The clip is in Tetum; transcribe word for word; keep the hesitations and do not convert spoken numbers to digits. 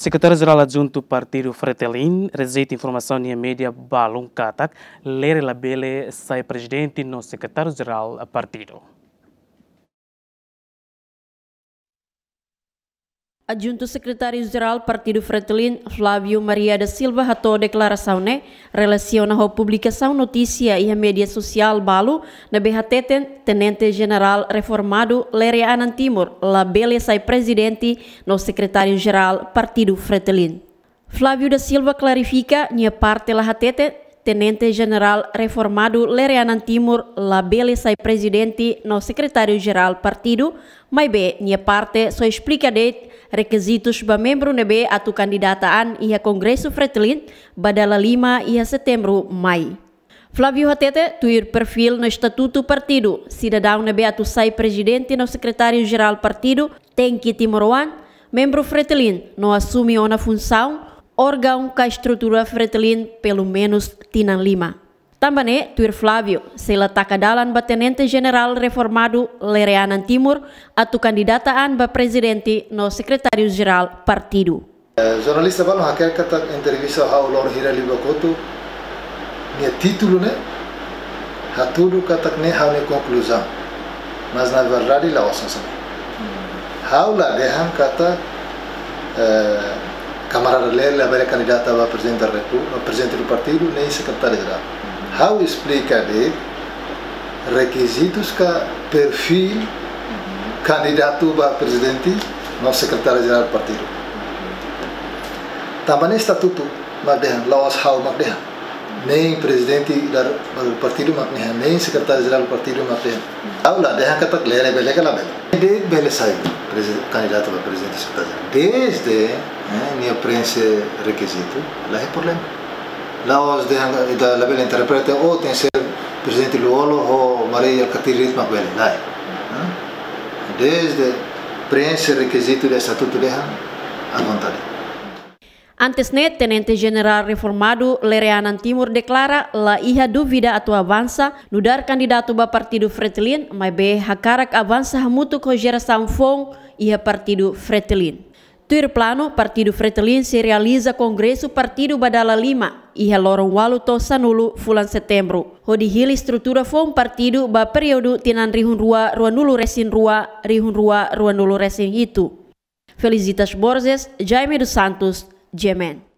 Sekretáriu Jerál Adjuntu Partidu Fretilin rejeita informasaun iha média balun katak Lere labele sai prezidente no sekretáriu jerál partidu. Adjuntu Sekretáriu Jerál Partidu Fretilin, Flávio Maria da Silva, hato'o deklarasaun ne'e relasiona ho publikasaun notísia iha média sosiál balu ne'ebé hateten Tenente Jenerál reformadu Lere Anan Timur labele sai prezidente no sekretáriu jerál Partidu Fretilin. Flávio da Silva klarifika, nia parte la hatete Tenente Jenerál reformadu Lere Anan Timur labele sai prezidente no sekretáriu jerál partidu, maibé nia parte só esplika de'it rekizitus ba membru ne'ebé atu kandidata an iha Kongresu Fretilin ba dala lima iha Setembru mai. Flávio hatete, tuir perfíl no estatutu partidu, sidadaun ne'ebé atu sai prezidente no sekretáriu jerál partidu tenke timoroan, membru Fretilin no asume ona funsaun, órgaun ka estrutura Fretilin pelumenus tinan lima. Tanba ne'e, tuir Flávio, sei la taka dalan ba Tenente Jenerál reformadu Lere Anan Timur atu kandidata an ba prezidente no sekretáriu jerál partidu. Eh, jornalista balun hakerek katak entrevista ha'u loron hira liubá kotuk, nia títulu ne'e hatudu katak ne'e ha'u-nia konkluzaun. Mas na verdade la'ós hanesan ne'e. Ha'u la dehan katak, eh, kamarada Lere labele kandidata ba prezidente da Repu-, prezidente do partidu, nem sekretáriu jerál. Ha'u esplika de'it rekizitus ka perfíl kandidatu ba prezidente no sekretáriu jerál partidu. Tanba ne'e estatutu mak dehan, la'ós ha'u mak dehan. Nem prezidente da, partidu mak dehan, nem sekretáriu jerál partidu mak dehan. Ha'u la dehan katak Lere bele ka labele. De'it bele sai prezi-, kandidatu ba prezidente, sekretáriu jerál. Desde, eh, nia preenxe rekizitu, la iha problema. La'ós dehan, ita labele interpreta, oh, tenke ser prezidente Lú-Olo ho Mari Alkatiri de'it mak bele, lae. Eh? Desde preenxe rekizitu de estatutu dehan, à vontade. Antes ne'e, Tenente Jenerál reformadu Lere Anan Timur deklara la iha dúvida atu avansa nu'udar kandidatu ba Partidu Fretilin, maibé hakarak avansa hamutuk ho jerasaun foun iha Partidu Fretilin. Tuir planu, Partidu Fretilin sei realiza kongresu partidu ba dala lima, iha loron ualu to'o sanulu fulan Setembru, hodi hili estrutura foun partidu ba períodu tinan rihun rua ruanulu resin rua, rihun rua ruanulu resin hitu. Felicitas Borges, Jaime dos Santos, G M N.